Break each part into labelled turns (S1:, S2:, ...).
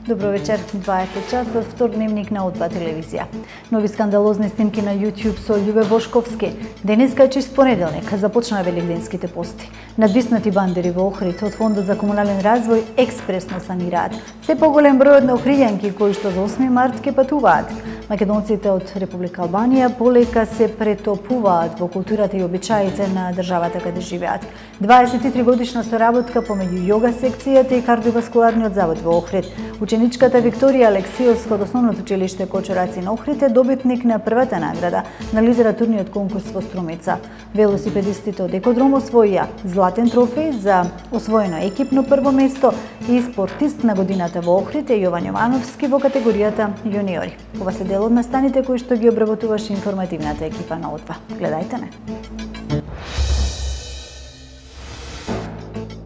S1: Добро вечер, 20 часот, втор дневник на О2 телевизија. Нови скандалозни снимки на YouTube со Љубе Бошковски. Денеска е чист понеделник, започнаа велигденските пости. Надвиснати бандери во Охрид од Фондот за комунален развој експресно санираат. Се поголем бројот на охриѓанки кои што за 8 март ке патуваат. Македонците од Република Албанија полека се претопуваат во културата и обичаите на државата каде живеат. 23 годишна соработка помеѓу јога секцијата и кардиоваскуларниот завод во Охрид. Ученичката Викторија Алексиевска од основното училиште Кочураци на Охрид е добитник на првата награда на литературниот конкурс во Струмица. Велосипедистите од Екодром освоија златен трофеј за освоено екипно прво место и спортист на годината во Охрид е Јован Јовановски во категоријата јуниори. Ова се дел од настаните кои што ги обработуваше информативната екипа на О2. Гледајте не.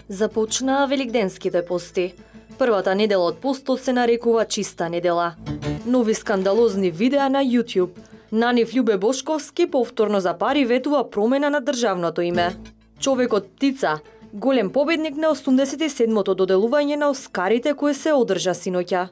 S2: Започнаа велигденските пости. Првата недела од постот се нарекува чиста недела. Нови скандалозни видеа на YouTube. На нив Љубе Бошковски повторно за пари ветува промена на државното име. Човекот птица, голем победник на 87-то доделување на Оскарите кои се одржа синоќа.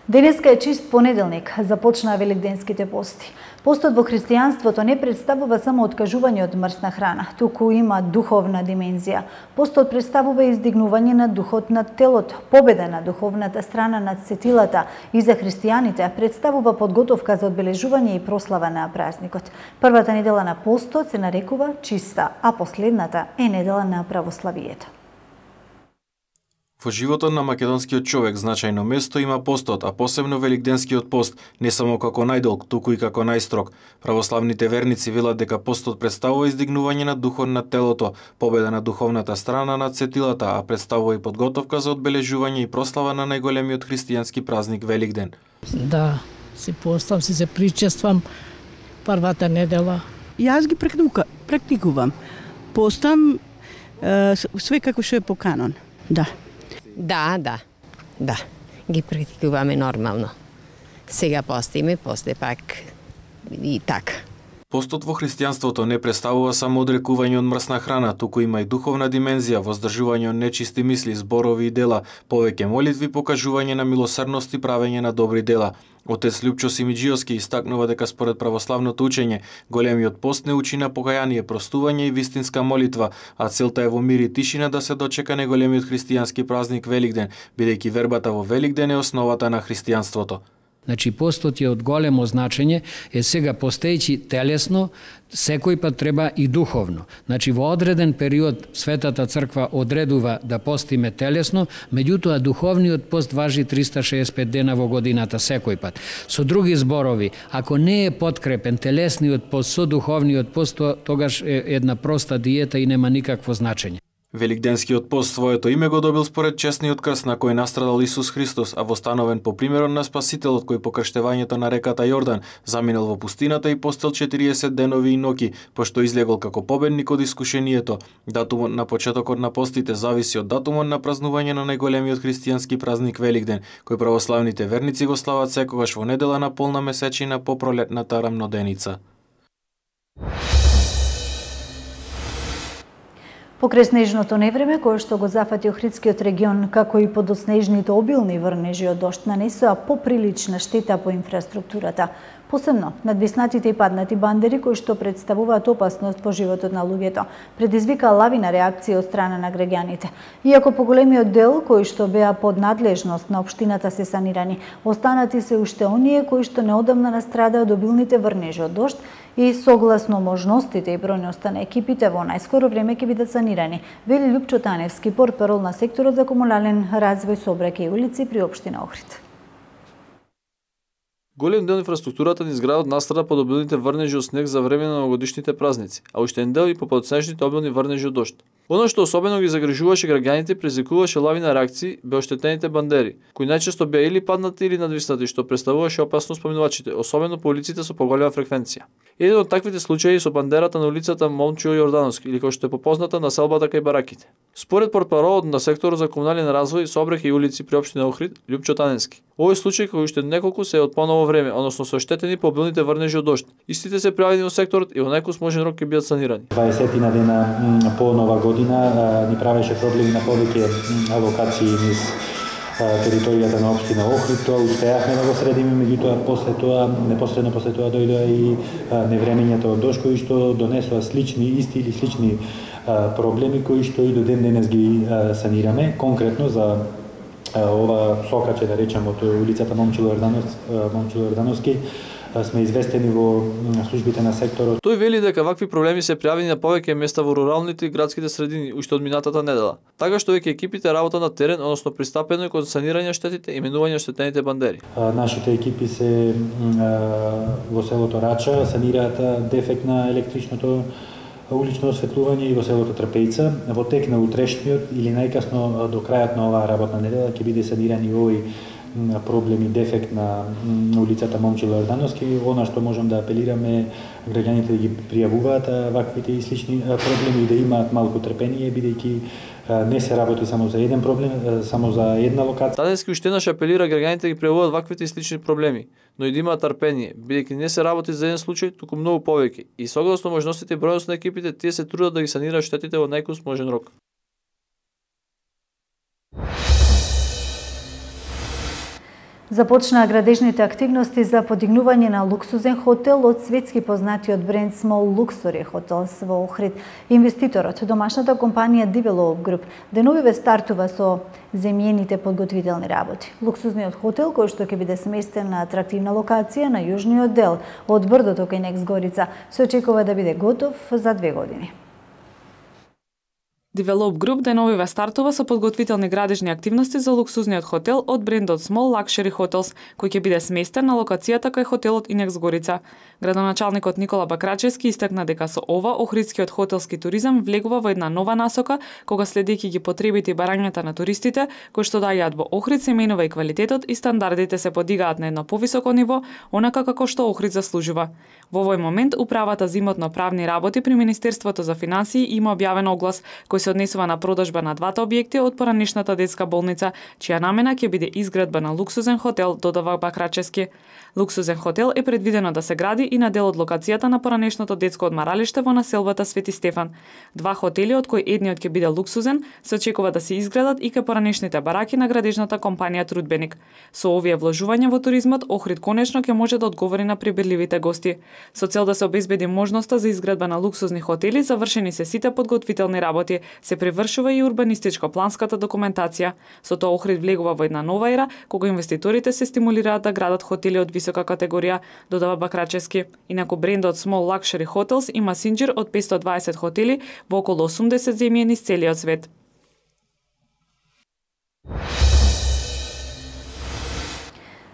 S1: Денеска е чист понеделник, започнаа велигденските пости. Постот во христијанството не представува само откажување од мрсна храна, туку има духовна димензија. Постот представува издигнување на духот над телото, победа на духовната страна над сетилата и за христијаните представува подготовка за одбележување и прослава на празникот. Првата недела на постот се нарекува чиста, а последната е недела на православието.
S3: Во животот на македонскиот човек значајно место има постот, а посебно велигденскиот пост, не само како најдолг, туку и како најстрог. Православните верници велат дека постот представува издигнување на духот на телото, победа на духовната страна над сетилата, а представува и подготовка за одбележување и прослава на најголемиот христијански празник Велигден.
S4: Да, се постам, се причествам првата недела.
S5: Јас ги практикувам. Постам све како што е по канон. Да.
S6: Да. Ги практикуваме нормално. Сега постиме, после пак и така.
S3: Постот во христијанството не представува само одрекување од мрсна храна, туку има и духовна димензија, воздржување од нечисти мисли, зборови и дела, повеќе молитви, покажување на милосрдност и правење на добри дела. Отец Лјупчо Симиџиовски истакнува дека според православното учење, големиот пост не учи на покаяние, простување и вистинска молитва, а целта е во мир и тишина да се дочека најголемиот христијански празник Велигден, бидејќи вербата во Велигден е основата на христијанството.
S7: Значи, постот е од големо значење, сега постејќи телесно, секој пат треба и духовно. Значи, во одреден период Светата Црква одредува да постиме телесно, меѓутоа духовниот пост важи 365 дена во годината секој пат. Со други зборови, ако не е подкрепен телесниот пост со духовниот пост, тогаш е една проста диета и нема никакво значење.
S3: Велигденскиот пост своето име го добил според честниот крст на кој настрадал Исус Христос, а востановен по примерот на Спасителот кој по крштевањето на реката Јордан заминал во пустината и постел 40 денови и ноќи, пошто излегол како победник од искушението. Датумот на почетокот на постите зависи од датумот на празнување на најголемиот христијански празник Велигден, кој православните верници го слават секогаш во недела на полна месечина по пролетната рамноденица.
S1: Покрај снежното невреме, кое што го зафати Охридскиот регион, како и подоснежните обилни врнежи од дожд, нанесоа поприлична штета по инфраструктурата. Посебно, надвиснатите и паднати бандери, кои што представуваат опасност по животот на луѓето, предизвика лавина реакција од страна на граѓаните. Иако поголемиот дел, кои што беа под надлежност на општината се санирани, останати се уште оние кои што неодамна настрадаа од обилните врнежи од дожд и согласно можностите и бројноста на екипите во најскоро време ќе бидат санирани, вели Лјупчо Таневски, портпарол на секторот за комунален развој, сообраќај и улици при општина Охрид.
S8: Голем дел инфраструктурата низ градот настрада под обилните врнежи од снег за време на новогодишните празници, а уште еден дел и по подснежните обилни врнежи од дожд. Оно што особено ги загрижуваше граѓаните предизвикуваше лавина реакции беа оштетените бандери, кои најчесто беа или паднати или надвиснати, што представуваше опасност поминувачите, особено по улиците со поголема фреквенција. Еден од таквите случаи со бандерата на улицата Момчио Јордановски, или како што е попозната населбата кај бараките. Според портпаролот на секторот за комунален развој, сообраќај и улици при општина Охрид, Лјупчо Таневски, Овој случај кој уште неколку се од поново време, односно се оштетени по обилните врнежи од дожд. Истите се пријавени во секторот и во најкус можен рок ќе бидат санирани.
S9: 20 дена по нова година ни правеше проблеми на повеќе локации низ територијата на општина Охрид. Тоа успеавме да го средиме, меѓутоа непосредно после тоа дојдоа и невремењата од дожд кои што донесоа исти или слични проблеми кои што и до ден денес ги санираме. Конкретно за ова сокаче, да речем, од улицата Момчило Јордановски, сме известени во службите на секторот.
S8: Тој вели дека вакви проблеми се пријавени на повеќе места во руралните и градските средини уште од минатата недела. Така што веќе екипите работат на терен, односно пристапено е кон санирање штетите и именување штетените бандери.
S9: Нашите екипи се во селото Рача санираат дефект на електричното улично осветлување и во селото Трпејца. Во тек на утрешниот или најкасно до крајот на оваа работна недела ќе биде саниран и овој проблем и дефект на улицата Момчило Јордановски. Она што можам да апелираме граѓаните да ги пријавуваат ваквите и слични проблеми и да имаат малку трпение, бидејќи не се работи само за еден проблем, само за една локација.
S8: Денески уште еднаш апелира граѓаните да ги пријавуваат ваквите и слични проблеми, но и да имаат трпение, бидејќи не се работи за еден случај, туку многу повеќе. И согласно можностите и бројност на екипите, тие се трудат да ги санираат штетите во најкус можен рок.
S1: Започнаа градежните активности за подигнување на луксузен хотел од светски познатиот бренд Small Luxury Hotels во Охрид. Инвеститорот, домашната компанија Develop Group, деновиве стартува со земјените подготвителни работи. Луксузниот хотел, кој што ќе биде сместен на атрактивна локација на јужниот дел од брдото кај Некс Горица, се очекува да биде готов за 2 години.
S10: Develop Group деновиве стартува со подготвителни градежни активности за луксузниот хотел од брендот Small Luxury Hotels, кој ќе биде сместен на локацијата кај хотелот Инекс Горица. Градоначалникот Никола Бакрачевски истакна дека со ова охридскиот хотелски туризам влегува во една нова насока, кога следејќи ги потребите и барањата на туристите, кои што доаѓаат во Охрид, се менува и квалитетот и стандардите се подигаат на едно повисоко ниво, онака како што Охрид заслужува. Во овој момент управата за имотно-правни работи при Министерството за финансии има објавен оглас кој се однесува на продажба на двата објекти од поранешната детска болница, чија намена ќе биде изградба на луксузен хотел, додава Бакрачевски. Луксузен хотел е предвидено да се гради и на дел од локацијата на поранешното детско одмаралиште во населбата Свети Стефан. Два хотели, од кои едниот ќе биде луксузен, се очекува да се изградат и кај поранешните бараки на градежната компанија Трудбеник. Со овие вложувања во туризмот, Охрид конечно ќе може да одговори на прибирливите гости. Со цел да се обезбеди можноста за изградба на луксузни хотели, завршени се сите подготвителни работи, се превршува и урбанистичко-планската документација. Со тоа Охрид влегува во една нова ера, кога инвеститорите се стимулираат да градат хотели од висока категорија, додава Бакрачевски. Инаку брендот Small Luxury Hotels има синџир од 520 хотели во околу 80 земји низ целиот свет.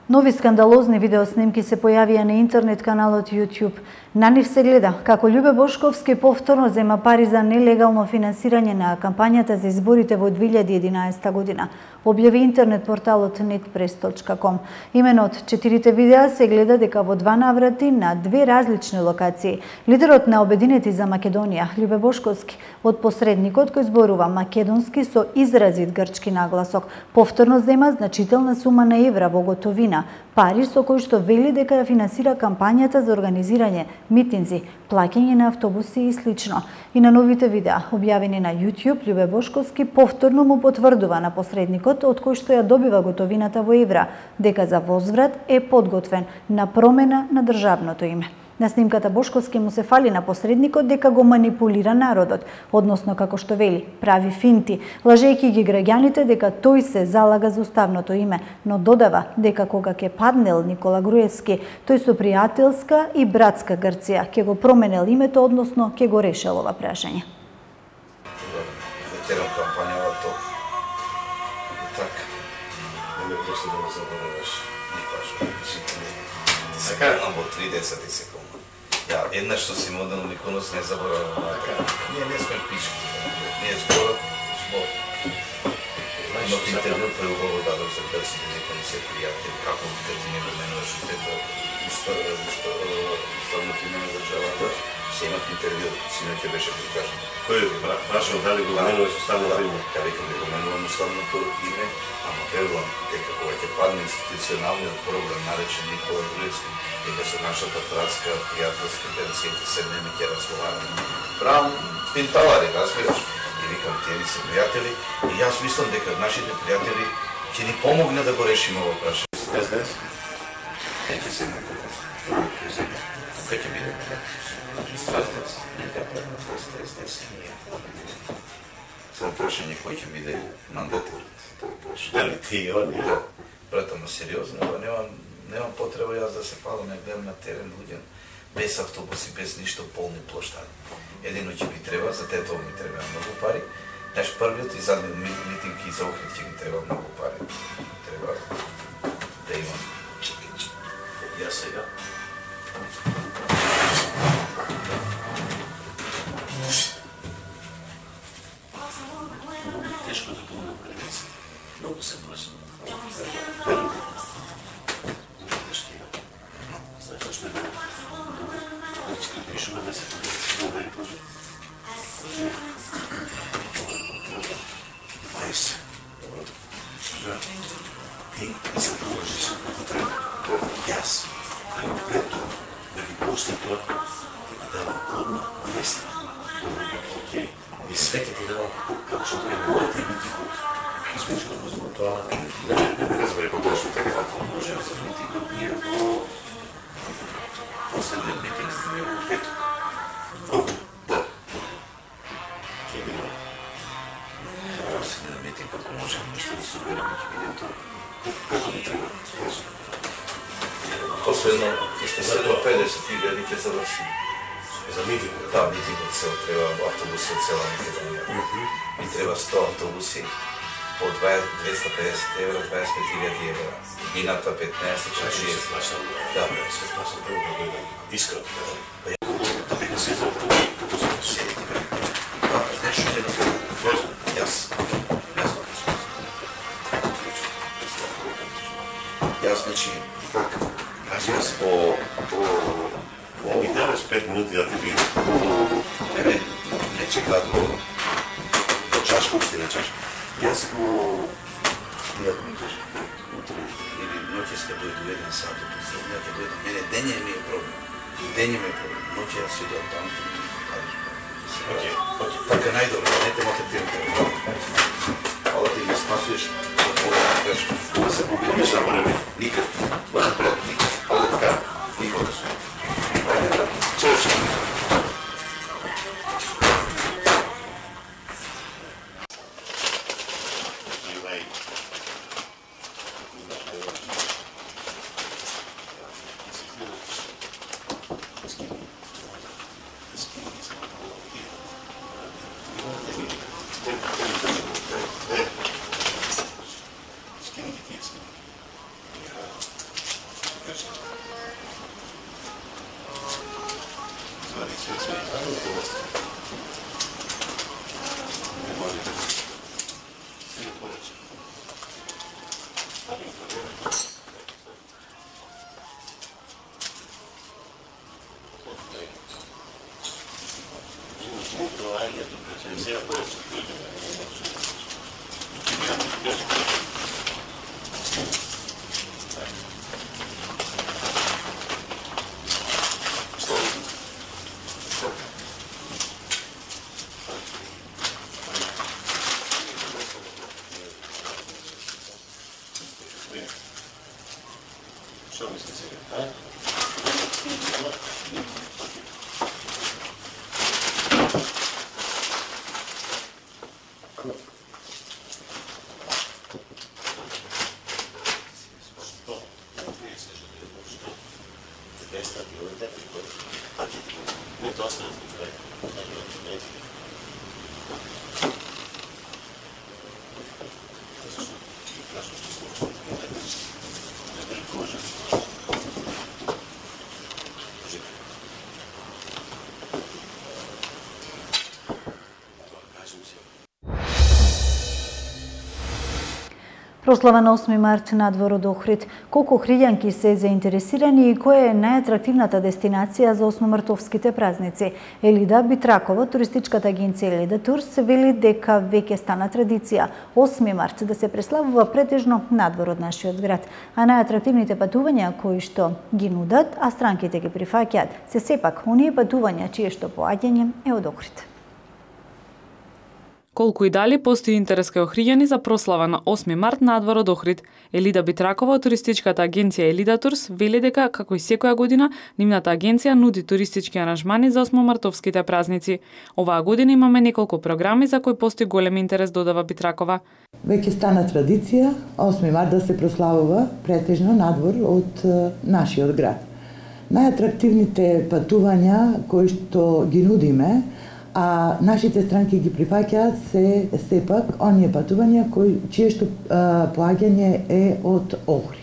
S1: Нови скандалозни видеоснимки се појавија на интернет каналот YouTube. На нив се гледа како Љубе Бошковски повторно зема пари за нелегално финансирање на кампањата за изборите во 2011 година, објави интернет порталот netpress.com. Имено од 4 видеа се гледа дека во 2 наврати на 2 различни локации лидерот на Обединети за Македонија, Љубе Бошковски, од посредникот кој зборува македонски со изразит грчки нагласок, повторно зема значителна сума на евра во готовина, пари со кои што вели дека финансира кампањата за организирање митинзи, плаќање на автобуси и слично. И на новите видеа, објавени на YouTube, Љубе Бошковски повторно му потврдува на посредникот од кој што ја добива готовината во евра, дека за возврат е подготвен на промена на државното име. На снимката Бошковски му се фали на посредникот дека го манипулира народот, односно како што вели, прави финти, лажејќи ги граѓаните дека тој се залага за уставното име, но додава дека кога ќе паднел Никола Груевски, тој со пријателска и братска Грција ќе го променел името, односно ќе го решил ова прашање.
S11: Ветерам кампањавато, така, не ме после да го забораваш никош. Сега во 30 секунди. Да, еднаш што си модел Миконос не заборавам. Ние не сме пишки, ние зборот. Но в интервју преубаво дадов за персите дека не се пријатели, како кога ти не го менуваш уставното име на државата, се имат интервју, синоќа беше прикажано.
S12: Кој прашал дали го менуваш уставното име?
S11: Ка векам да го менувам уставното име, ама верувам дека кога ќе падне институционалниот проблем наречен Никола Груевски, дека со нашата братска, пријателска персите седнеме ќе разговараме. Правам пинталари, разбираш? И викам, тие ни се пријатели, и јас мислам дека нашите пријатели ќе ни помогне да го решиме ово прашање.
S12: СДС?
S11: Ќе се Кој ќе биде? СДС? Само прашање кој ќе биде мандатор.
S12: Дали ти и они?
S11: Брат, ама сериозно, немам потреба јас да се палам, не гледам на терен луѓе, без автобуси, без ништо, полни плоштади. Едино ќе ми треба, за тето ми треба многу пари. Наш првиот и задниот митинг и за Охрид ќе ми треба многу пари. Треба да имам.
S12: Ја сега. Тешко да помогна превенција. Многу се прашам. Знаеш што е мене? Пишу на месец. Мајс. Ти не се положиш. Јас. Пред тоа, да ги после тоа, да давам плодна места. Океј. И све ќе ти давам како што треба да ти бити. Смешно возможно тоа. Не разбери погрешно така. Може да се митинг ние. Последниот митинг ние во пето. Да. Ќе биде. Последниот митинг како можеме нешто да собереме, ќе биде тоа. Како ни треба.
S11: Последно, сте се до 50.000 ќе заврши.
S12: За митинг?
S11: Да, митингот се треба автобуси од цела Македонија. И треба 100 автобуси по 250 евра, 25.000 евра. Мината 15, 40. Да.
S12: Се плашам прво да дојдам. Искрено кажам. Да беха се за
S11: Нешто е на Јас. Јас, значи, јас по
S12: ми даваш 5 минути да ти видим.
S11: Не чекат по чашка, не чашка. Јас по... Ја да ми кажа. Или ноќе сте дојду 1 сат, ја ќе дојдам. Мене дење ми е проблем. Дење ми е проблем. Ноќе јас си дојдам таму.
S12: Океј.
S11: Така најдобро, не те малтретирам. Ала ти ги спасуваш од Бога, кажеш.
S12: Да се побудиш на време.
S11: Никад. Бъдат пред, никад. Ала така, никогаш. Чош.
S1: Прослава на 8 март надвор од Охрид. Колку охриѓанки се заинтересирани и која е најатрактивната дестинација за осмомартовските празници? Елида Битракова, туристичката агенција Елида Турс, вели дека веќе стана традиција 8 март да се преславува претежно надвор од нашиот град, а најатрактивните патувања кои што ги нудат, а странките ги прифаќаат, се сепак оние патувања чие што поаѓање е од Охрид.
S10: Колку и дали постои интерес кај охриѓани за прослава на 8 март надвор од Охрид. Елида Битракова од туристичката агенција Елида Турс вели дека, како и секоја година, нивната агенција нуди туристички аранжмани за 8 мартовските празници. Оваа година имаме неколку програми за кои постои голем интерес, додава Битракова.
S13: Веќе стана традиција 8 март да се прославува претежно надвор од нашиот град. Најатрактивните патувања кои што ги нудиме, а нашите странки ги прифаќаат се сепак оние патувања чие што поаѓање е од Охрид.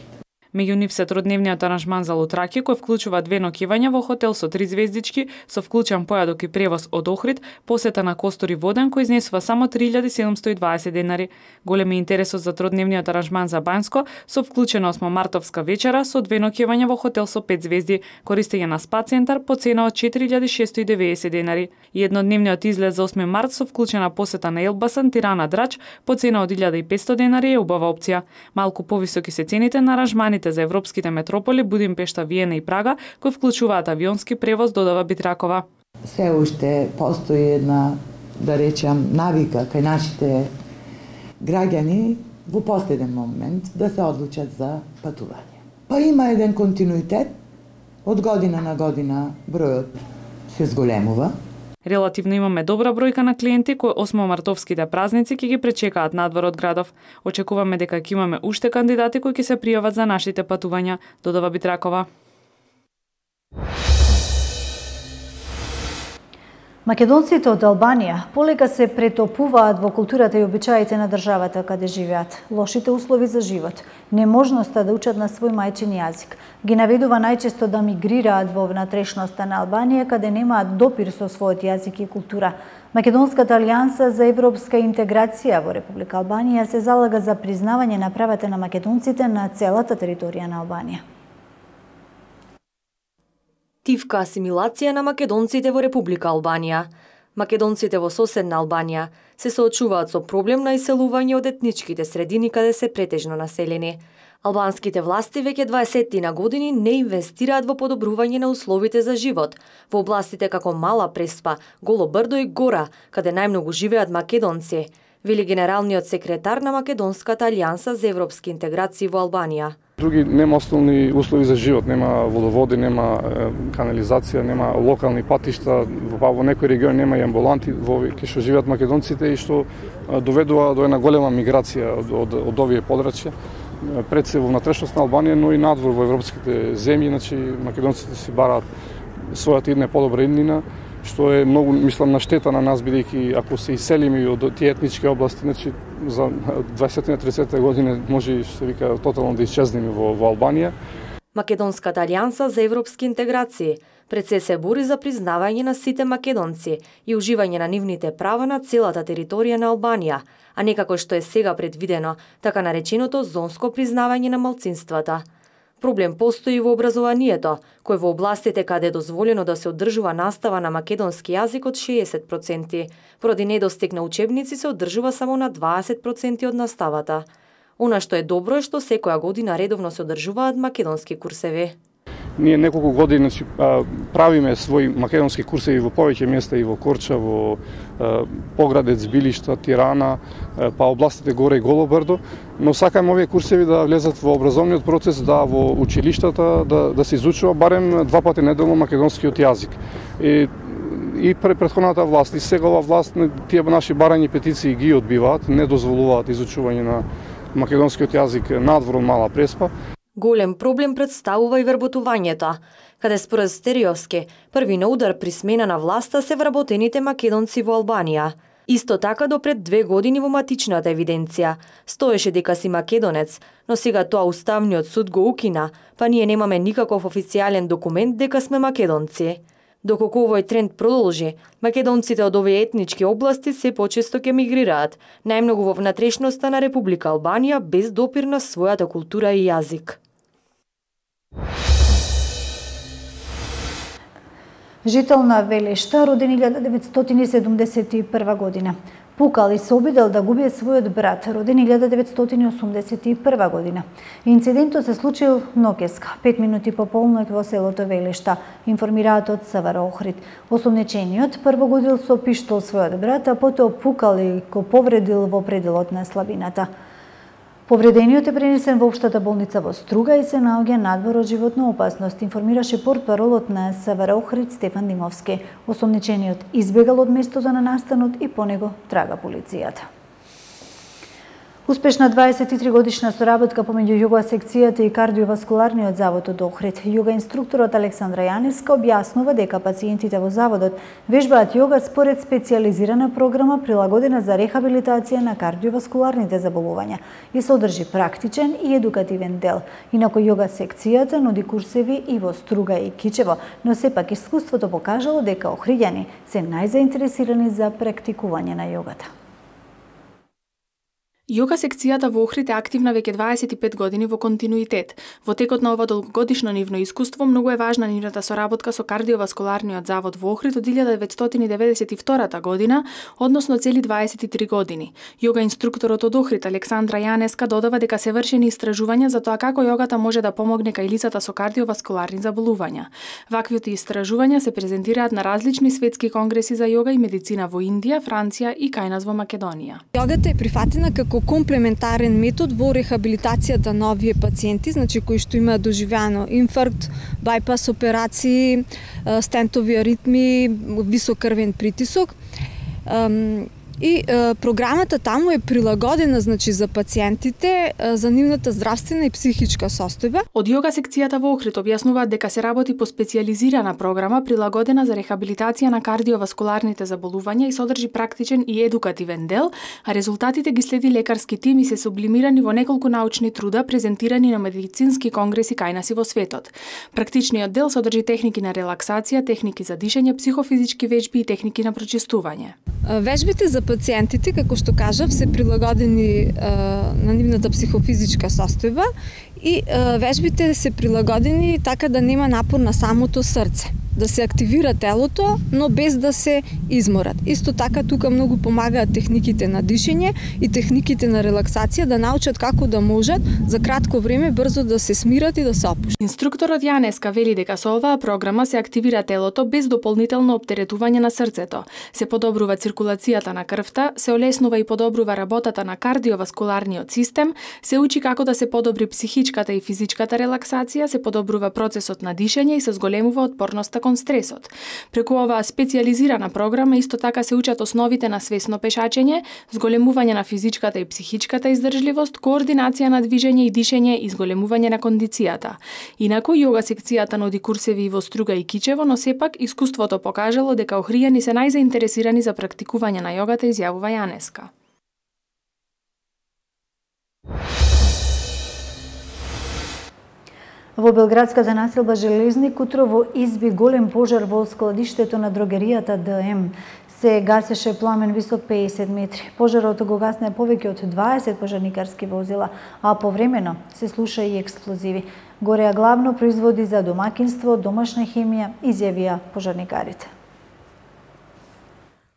S10: Меѓу нив се тродневниот аранжман за Лутраки, кој вклучува 2 ноќивања во хотел со 3 звездички, со вклучен појадок и превоз од Охрид, посета на Костор и Воден кој изнесува само 3720 денари. Голем е интересот за тродневниот аранжман за Бањско, со вклучена 8 мартовска вечера со 2 ноќивања во хотел со 5 звезди, користење на спа центар по цена од 4690 денари. И еднодневниот излет за 8 март со вклучена посета на Елбасан, Тирана, Драч по цена од 1500 денари е убава опција. Малку повисоки се цените на аранжмани за европските метрополи Будимпешта, Виена и Прага, кои вклучуваат авионски превоз, додава Битракова.
S13: Се уште постои една, да речам, навика кај нашите граѓани во последен момент да се одлучат за патување. Па има еден континуитет, од година на година бројот се зголемува.
S10: Релативно имаме добра бројка на клиенти кои 8 мартовските празници ќе ги пречекаат надвор од градов. Очекуваме дека ќе имаме уште кандидати кои ќе се пријават за нашите патувања, додава Битракова.
S1: Македонците од Албанија полека се претопуваат во културата и обичаите на државата каде живеат. Лошите услови за живот, неможноста да учат на свој мајчин јазик, ги наведува најчесто да мигрираат во внатрешноста на Албанија каде немаат допир со својот јазик и култура. Македонската алијанса за европска интеграција во Република Албанија се залага за признавање на правата на македонците на целата територија на Албанија.
S2: Тивка асимилација на македонците во Република Албанија. Македонците во соседна Албанија се соочуваат со проблем на иселување од етничките средини каде се претежно населени. Албанските власти веќе 20 на години не инвестираат во подобрување на условите за живот во областите како Мала Преспа, Голо Брдо и Гора, каде најмногу живеат македонци, вели генералниот секретар на Македонската алијанса за европски интеграции во Албанија.
S14: Други нема основни услови за живот, нема водоводи, нема канализација, нема локални патишта, во некои региони нема и амбуланти во кај што живеат македонците и што доведува до една голема миграција од овие подрачја. Пред се во внатрешност на Албанија, но и надвор во европските земји, значи македонците си бараат својата идна подобра иднина, што е многу, мислам, на штета на нас, бидејќи ако се иселиме од тие етнички области, значи за 20-30 години може, што се вика, тотално да исчезнеме во Албанија.
S2: Македонската алијанса за европски интеграции пред се бори за признавање на сите македонци и уживање на нивните права на целата територија на Албанија, а не како што е сега предвидено, така нареченото зонско признавање на малцинствата. Проблем постои во образованието, кој во областите каде е дозволено да се одржува настава на македонски јазик од 60%, поради недостиг на учебници се одржува само на 20% од наставата. Она што е добро е што секоја година редовно се одржуваат македонски курсеви.
S14: Ние неколку години правиме своји македонски курсеви во повеќе места и во Корча, во Поградец, Билишта, Тирана, па областите Горе и Голо Брдо, но сакаме овие курсеви да влезат во образовниот процес, да во училиштата да се изучува барем 2 пати неделно македонскиот јазик. И претходната власт и сегава власт тие наши барања петиции ги одбиваат, не дозволуваат изучување на македонскиот јазик надвор од Мала Преспа.
S2: Голем проблем представува и вработувањето, каде според Стериовски, први на удар при смена на власта се вработените македонци во Албанија. Исто така до пред 2 години во матичната евиденција стоеше дека си македонец, но сега тоа Уставниот суд го укина, па ние немаме никаков официјален документ дека сме македонци. Доколку овој тренд продолжи, македонците од овие етнички области се почесто ќе мигрираат, најмногу во внатрешноста на Република Албанија без допир на својата култура и јазик.
S1: Жител на Велешта, роден 1971 година. Пукал и се обидел да губи својот брат, роден 1981 година. Инцидентот се случил ноќеска, 5 минути по полноќ во селото Велешта, информираат од СВР Охрид. Осомничениот прво годил со пиштол својот брат, а потоа пукал и го повредил во пределот на слабината. Повредениот е пренесен во општата болница во Струга и се наоѓа надвор од животна опасност, информираше портпаролот на СВР Охрид Стефан Димовски. Осомничениот избегал од местото на настанот и по него трага полицијата. Успешна 23-годишна соработка помеѓу југа секцијата и кардиоваскуларниот завод од Охрид. Јога инструкторот Александра Јанеска објаснува дека пациентите во заводот вежбаат јога според специјализирана програма прилагодена за рехабилитација на кардиоваскуларните заболувања и содржи практичен и едукативен дел. Инаку јога секцијата нуди курсеви и во Струга и Кичево, но сепак искуството покажало дека охриѓани се најзаинтересирани за практикување на јогата.
S15: Јога секцијата во Охрид е активна веќе 25 години во континуитет. Во текот на ова долгогодишно нивно искуство многу е важна нивната соработка со кардиоваскуларниот завод во Охрид од 1992 година, односно цели 23 години. Јога инструкторот од Охрид Александра Јанеска додава дека се вршени истражувања за тоа како јогата може да помогне кај лицата со кардиоваскуларни заболувања. Ваквите истражувања се презентираат на различни светски конгреси за јога и медицина во Индија, Франција и кај нас во Македонија.
S16: Јогата е прифатена како комплементарен метод во рехабилитацијата на овие пациенти, значи кои што имаат доживеано инфаркт, бајпас операции, стентови аритми, висок крвен притисок. И програмата таму е прилагодена значи за пациентите, за нивната здравствена и психичка состојба.
S15: Од јога секцијата во Охрид објаснуваат дека се работи по специјализирана програма прилагодена за рехабилитација на кардиоваскуларните заболувања и содржи практичен и едукативен дел, а резултатите ги следи лекарски тим и се сублимирани во неколку научни труда презентирани на медицински конгреси кај нас и во светот. Практичниот дел содржи техники на релаксација, техники за дишење, психофизички вежби и техники на прочистување.
S16: Вежбите за пациентите, како што кажав, се прилагодени на нивната психофизичка состојба и вежбите се прилагодени така да нема напор на самото срце, да се активира телото, но без да се изморат. Исто така тука многу помагаат техниките на дишење и техниките на релаксација да научат како да можат за кратко време брзо да се смират и да се опуштат.
S15: Инструкторот Јанеска вели дека со оваа програма се активира телото без дополнително оптеретување на срцето. Се подобрува циркулацијата на крвта, се олеснува и подобрува работата на кардиоваскуларниот систем, се учи како да се подобри психичката и физичката релаксација, се подобрува процесот на дишење и се зголемува отпорноста кон стресот. Преку оваа специјализирана програма исто така се учат основите на свесно пешачење, зголемување на физичката и психичката издржливост, координација на движење и дишење и зголемување на кондицијата. Инаку јога секцијата нуди курсеви и во Струга и Кичево, но сепак искуството покажало дека охријани се најзаинтересирани за практикување на јогата, изјавува Јанеска.
S1: Во белградската населба Железник утрово изби голем пожар во складиштето на дрогеријата ДМ. Се гасеше пламен висок 50 метри. Пожарот го гасне повеќе од 20 пожарникарски возила, а повремено се слуша и експлозиви. Гореа главно производи за домакинство, домашна хемија, изјавија пожарникарите.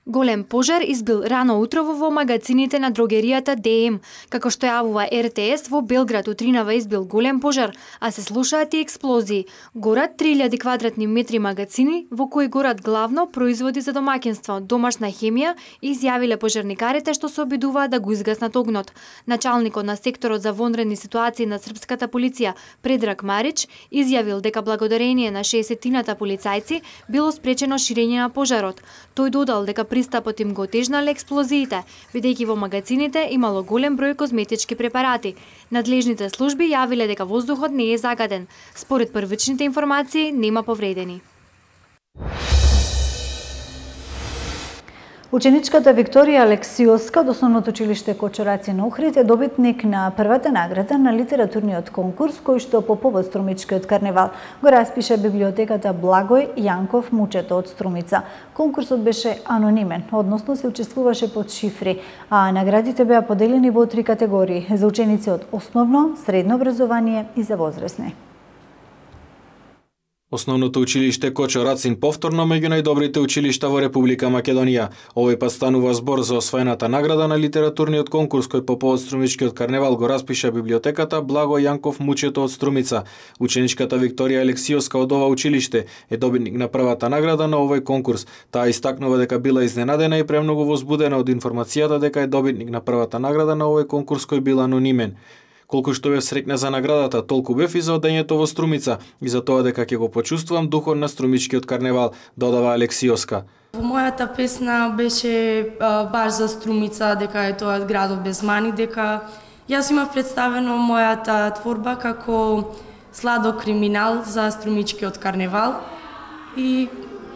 S17: Голем пожар избил рано утрово во магазините на дрогеријата ДМ. Како што јавува РТС, во Белград утринава избил голем пожар, а се слушаат и експлозии. Горат 3000 квадратни метри магазини, во кои горат главно производи за домакинство, домашна хемија, изјавиле пожарникарите што се обидуваат да го изгаснат огнот. Началникот на секторот за вонредни ситуации на српската полиција, Предраг Марич, изјавил дека благодарение на 60-тината полицајци било спречено ширење на пожарот. Тој додал дека пристапот им го отежнале експлозиите, бидејќи во магазините имало голем број козметички препарати. Надлежните служби јавиле дека воздухот не е загаден. Според првичните информации, нема повредени.
S1: Ученичката Викторија Алексиоска од Основното училиште Кочо Рацин Охрид е добитник на првата награда на литературниот конкурс кој што по повод Струмичкиот карневал го распиша библиотеката Благој Јанков Мучето од Струмица. Конкурсот беше анонимен, односно се учествуваше под шифри, а наградите беа поделени во 3 категории за ученици од основно, средно образование и за возрастни.
S3: Основното училиште Кочо Рацин повторно меѓу најдобрите училишта во Република Македонија. Овој пат станува збор за освоената награда на литературниот конкурс кој по повод Струмичкиот карневал го распиша библиотеката Благо Јанков Мучето од Струмица. Ученичката Викторија Алексиоска од ова училиште е добитник на првата награда на овој конкурс. Таа истакнува дека била изненадена и премногу возбудена од информацијата дека е добитник на првата награда на овој конкурс кој бил анонимен. Колку што бев среќна за наградата, толку бев и за одењето во Струмица и за тоа дека ќе го почувствувам духот на Струмичкиот карневал, додава Алексиоска.
S18: Во мојата песна беше баш за Струмица, дека е тоа градот без мани, дека јас имав представено мојата творба како сладок криминал за Струмичкиот карневал и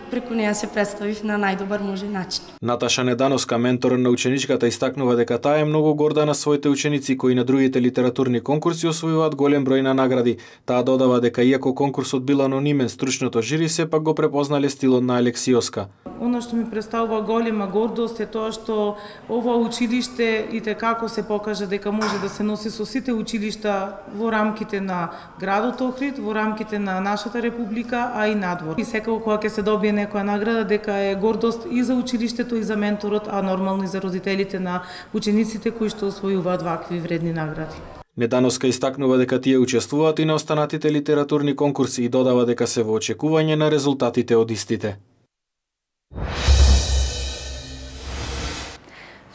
S18: преку неја се представив на најдобар можен начин.
S3: Наташа Недановска, ментор на ученичката, истакнува дека таа е многу горда на своите ученици кои на другите литературни конкурси освојуваат голем број на награди. Таа додава дека иако конкурсот бил анонимен, стручното жири сепак го препознале стилот на Алексиоска.
S19: Оно што ми представува голема гордост е тоа што ова училиште и како се покажа дека може да се носи со сите училишта во рамките на градот Охрид, во рамките на нашата република, а и надвор. И секако кога ќе се добие некоја награда, дека е гордост и за училиштето и за менторот, а нормално и за родителите на учениците кои што освојуваат вакви вредни награди.
S3: Недановска истакнува дека тие учествуваат и на останатите литературни конкурси и додава дека се во очекување на резултатите од истите.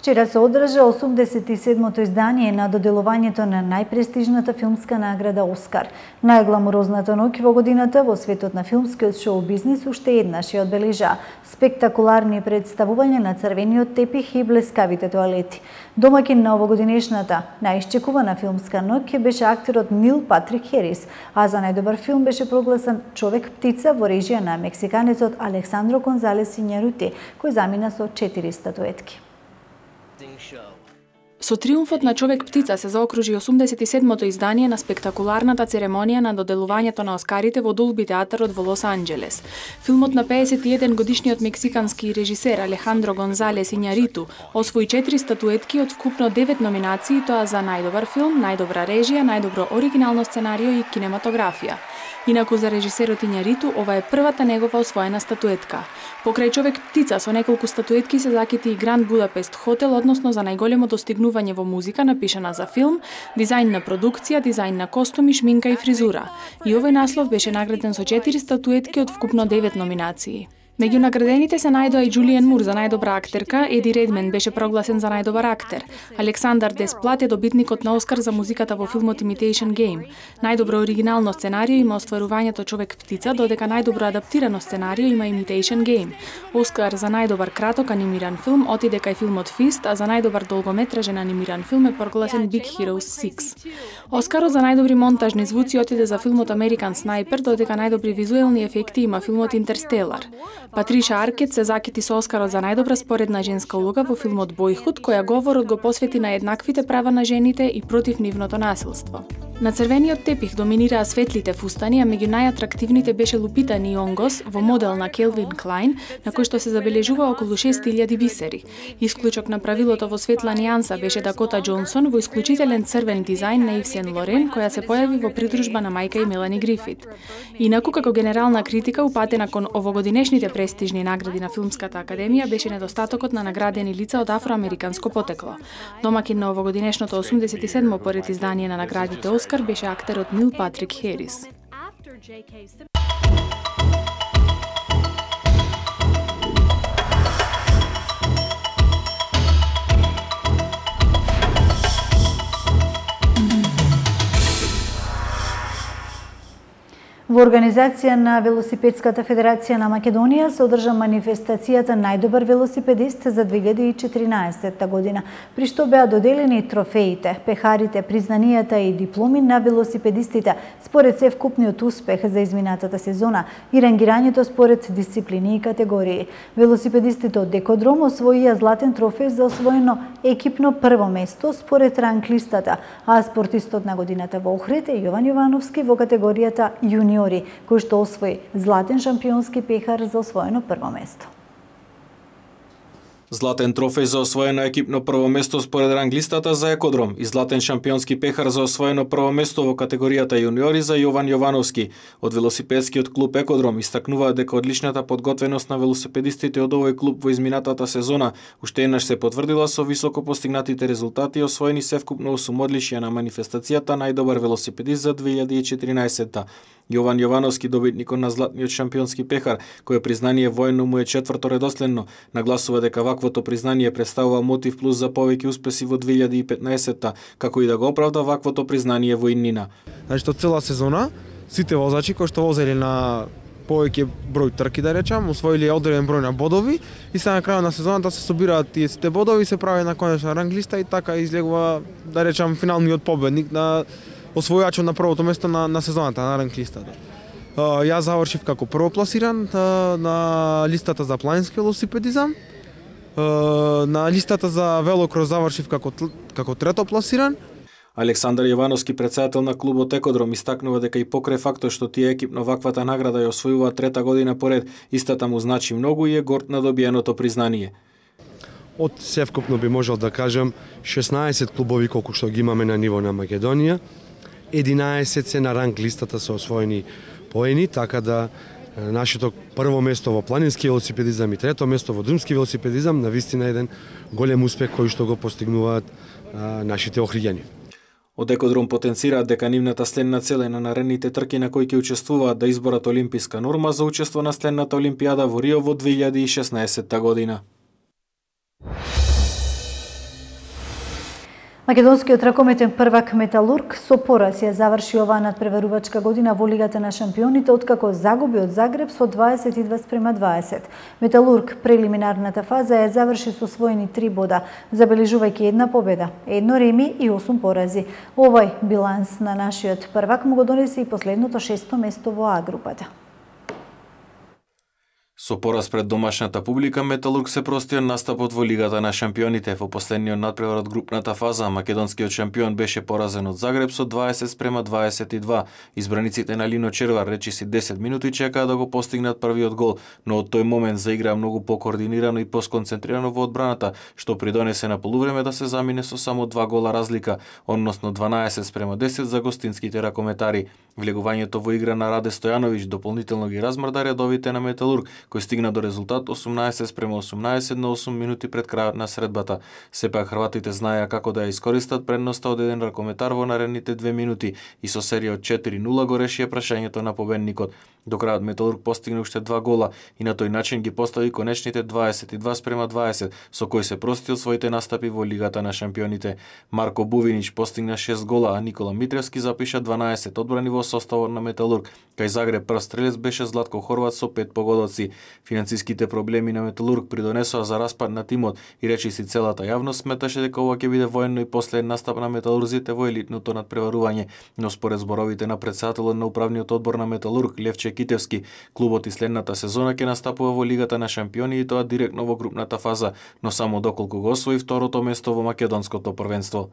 S1: Вчера се одржа 87-то издание на доделувањето на најпрестижната филмска награда Оскар. Најгламурозната ноќ во годината во светот на филмскиот шоу-бизнис уште еднаш ја одбележа спектакуларни представувања на црвениот тепих и блескавите тоалети. Домаќин на овогодинешната најисчекувана филмска ноќ беше актерот Нил Патрик Херис, а за најдобар филм беше прогласен Човек-птица во режија на мексиканецот Александро Гонзалес Ињарути, кој замина со 4 статуетки.
S15: Со триумфот на Човек-птица се заокружи 87-то издание на спектакуларната церемонија на доделувањето на Оскарите во Долби театарот во Лос Анџелес. Филмот на 51 годишниот мексикански режисер Алехандро Гонзалес Ињариту освои 4 статуетки од вкупно 9 номинации, тоа за најдобар филм, најдобра режија, најдобро оригинално сценарио и кинематографија. Инаку за режисерот Ињариту ова е првата негова освоена статуетка. Покрај Човек-птица со неколку статуетки се закити и Гранд Будапест хотел, односно за најголемо достигнување во музика напишана за филм, дизајн на продукција, дизајн на костуми, шминка и фризура. И овој наслов беше награден со 4 статуетки од вкупно 9 номинации. Меѓу наградените се најдоа и Џулијан Мур за најдобра актерка, Еди Редмен беше прогласен за најдобар актер, Александар Десплат е добитникот на Оскар за музиката во филмот Imitation Game. Најдобро оригинално сценарио има остварувањето Човек-птица, додека најдобро адаптирано сценарио има Imitation Game. Оскар за најдобар краток анимиран филм отиде кај филмот Фист, а за најдобар долгометражен анимиран филм е прогласен Big Hero 6. Оскарот за најдобри монтажни звуци отиде за филмот American Sniper, додека најдобри визуелни ефекти има филмот Интерстелар. Патриша Аркет се закити со Оскарот за најдобра споредна женска улога во филмот Бојхуд, која говорот го посвети на еднаквите права на жените и против нивното насилство. На црвениот тепих доминираа светлите фустани, а меѓу најатрактивните беше Лупита Њонгос во модел на Келвин Клайн, на кој што се забележува околу 6000 бисери. Исклучок на правилото во светла нијанса беше Дакота Џонсон во исклучителен црвен дизајн на Ив Сен Лорен, која се појави во придружба на мајка и Мелани Грифит. Инаку, како генерална критика упатена кон овогодинешните престижни награди на Филмската академија беше недостатокот на наградени лица од афроамериканско потекло. Домаќин на овогодинешното 87-мо поред издание на наградите Оскар беше актерот Нил Патрик Херис.
S1: Во организација на Велосипедската федерација на Македонија се одржа манифестацијата Најдобар велосипедист за 2014 година, при што беа доделени трофеите, пехарите, признанијата и дипломи на велосипедистите според севкупниот успех за изминатата сезона и рангирањето според дисциплини и категории. Велосипедистите од Декодром освоија златен трофеј за освоено екипно прво место според ранг листата, а спортистот на годината во Охрид е Јован Јовановски во категоријата јуниор, кој што освои златен шампионски пехар за освоено прво место.
S3: Златен трофеј за освоено екипно прво место според ранглистата за Екодром и златен шампионски пехар за освоено прво место во категоријата јуниори за Јован Јовановски. Од велосипедскиот клуб Екодром истакнуваат дека одличната подготвеност на велосипедистите од овој клуб во изминатата сезона уште еднаш се потврдила со високо постигнатите резултати и освоени севкупно 8 одличија на манифестацијата Најдобар велосипедист за 2014. Јован Јовановски, добитникот на златниот шампионски пехар, кое признание воено му е четврто редоследно, нагласува дека ваквото признание представува мотив плюс за повеќе успеси во 2015-та, како и да го оправда ваквото признание во иднина.
S20: Значи, од цела сезона, сите возачи кои што возели на повеќе број трки, да речам, освоили одреден број на бодови и се на крајот на сезоната се собираат тие сите бодови, се прави на конечна ранглиста и така излегува, да речам, финалниот победник на освојачот на првото место на сезоната, на ранглистата. Јас завршив како првопласиран на листата за планински велосипедизам. На листата за велокрос завршив како третопласиран.
S3: Александар Јовановски, председател на клубот Екодром, истакнува дека и покрај фактот што тие екипно ваквата награда ја освојуваат трета година поред, истата му значи многу и е горд на добиеното признание.
S21: Од севкупно би можел да кажам 16 клубови колку што ги имаме на ниво на Македонија, 11 се на ранг листата се освоени поени, така да нашето прво место во планински велосипедизам и трето место во друмски велосипедизам навистина еден голем успех кој што го постигнуваат нашите охриѓани.
S3: Од Екодром потенцираат дека нивната следна цел е на наредните трки на кои ќе учествуваат да изборат олимписка норма за учество на следната олимпијада во Рио во 2016 година.
S1: Македонскиот ракометен првак Металург со пораз ја заврши оваа надпреварувачка година во Лигата на шампионите, откако загуби од Загреб со 22:20. Металург прелиминарната фаза ја заврши со освоени 3 бода, забележувајќи една победа, 1 реми и 8 порази. Овој биланс на нашиот првак му го донесе и последното 6-то место во А групата.
S3: Со пораз пред домашната публика, Металург се прости од настапот во Лигата на шампионите. Во последниот надпревар од групната фаза, македонскиот шампион беше поразен од Загреб со 20:22. Избраниците на Лино Червар речиси 10 минути чекаа да го постигнат првиот гол, но од тој момент заиграа многу покоординирано и посконцентрирано во одбраната, што придонесе на полувреме да се замине со само 2 гола разлика, односно 12:10 за гостинските ракометари. Влегувањето во игра на Раде Стојановиќ дополнително ги размрда редовите на Металург, кој стигна до резултат 18:18 на 8 минути пред крајот на средбата. Сепак хрватите знаеа како да ја искористат предноста од еден ракометар во наредните 2 минути и со серија од 4:0 го решија прашањето на победникот. До крајот Металург постигна уште 2 гола и на тој начин ги постави конечните 22:20, со кој се прости од своите настапи во Лигата на шампионите. Марко Бувинич постигна 6 гола, а Никола Митревски запиша 12 одбрани во составот на Металург. Кај Загреб прв стрелец беше Златко Хорват со 5 погодоци. Финансиските проблеми на Металург придонесоа за распад на тимот и речиси целата јавност сметаше дека ова ќе биде военно и последен настап на металурзите во елитното надпреварување, но според зборовите на претседателот на управниот одбор на Металург Левче Китевски, клубот и следната сезона ќе настапува во Лигата на шампиони и тоа директно во групната фаза, но само доколку го освои второто место во македонското првенство.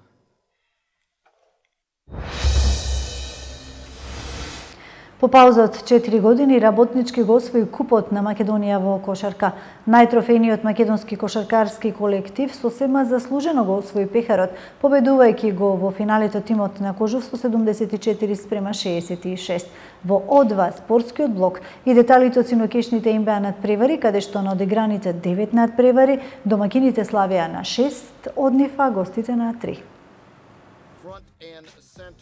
S1: По пауза од 4 години, работнички го освои купот на Македонија во кошарка. Најтрофејниот македонски кошаркарски колектив сосема заслужено го освои пехарот, победувајќи го во финалето тимот на Кожув со 74:66. Во О2 спортскиот блок и деталите од синокешните им беа надпревари, каде што на одиграните 9 надпревари, домакините славеа на 6 од нив, а гостите на 3.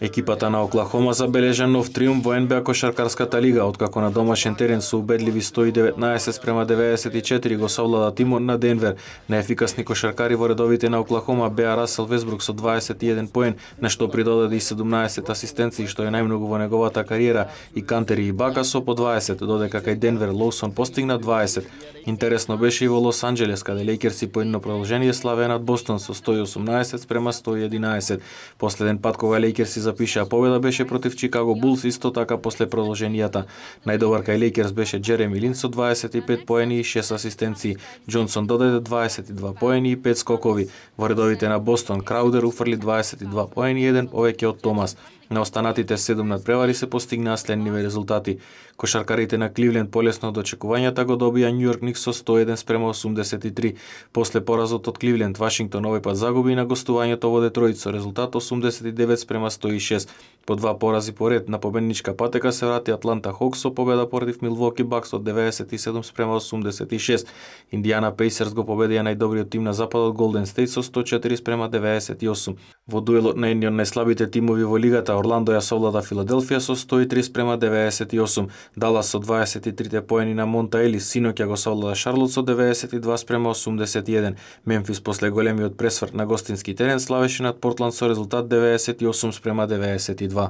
S3: Екипата на Оклахома забележа нов триумф во НБА кошаркарската лига, откако на домашен терен со убедливи 119-94 го совлада тимот на Денвер. Неефикасни кошаркари во редовите на Оклахома беа Расел Весбрук со 21 поен, на што придодаде и 17 асистенции, што е најмногу во неговата кариера, и Кантери и Бака со по 20, додека кај Денвер Лоусон постигна 20. Интересно беше и во Лос Анџелес, каде Лейкерси по едно продолжение славеа над Бостон со 118-111. Последен пат кога Лейкерси запишаа победа беше против Чикаго Булс, исто така после продолженијата. Најдобар кај Лейкерс беше Джереми Лин со 25 поени и 6 асистенции. Џонсон додаде 22 поени и 5 скокови. Во редовите на Бостон Краудер уфрли 22 поени и 1 повеќе од Томас. На останатите 7 надпревари се постигнаа следниве резултати. Кошаркарите на Кливленд полесно од очекувањата го добија Њујорк Никс со 101-83. После поразот од Кливленд, Вашингтон овој пат загуби на гостувањето во Детройт со резултат 89-106. По два порази поред на победничка патека се врати Атланта Хокс со победа против Милвоки Бакс од 97-86. Индијана Пейсерс го победија најдобриот тим на западот Голден Стейт со 104-98. Во дуелот на едни од најслабите тимови во лигата, Орландо ја совлада Филаделфија со 103-98. Далас со 23 поени на Монта Елис, синоќа го совлада Шарлот со 92-81. Мемфис после големиот пресврт на гостински терен славеше над Портланд со резултат 98-92.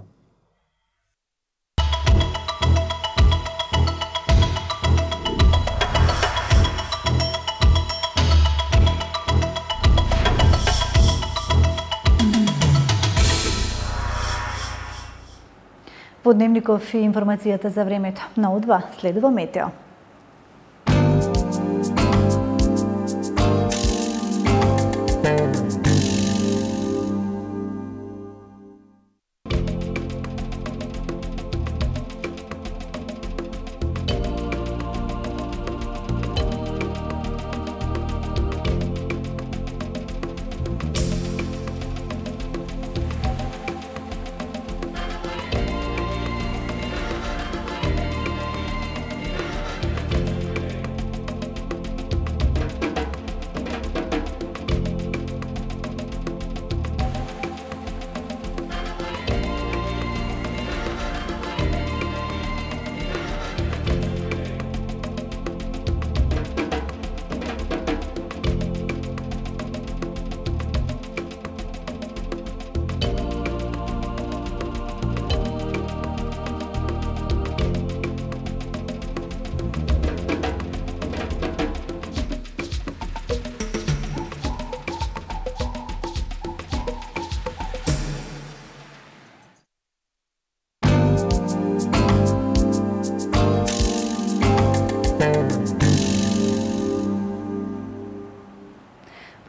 S1: Во Дневников и информацијата за времето. На О2 следува метео.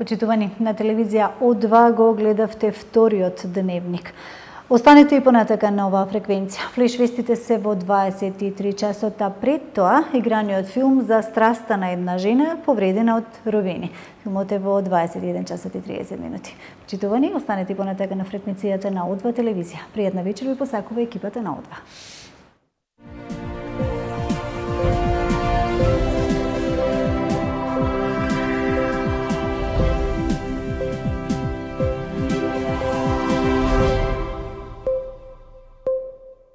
S1: Почитувани, на телевизија О2 го гледавте вториот дневник. Останете и понатака на оваа фреквенција. Флеш вестите се во 23 часота. Пред тоа, играниот филм за страста на една жена повредена од робени. Филмот е во 21 часот и 30 минути. Почитувани, останете и понатака на фреквенцијата на О2 телевизија. Пријатна вечер ви посакува екипата на О2.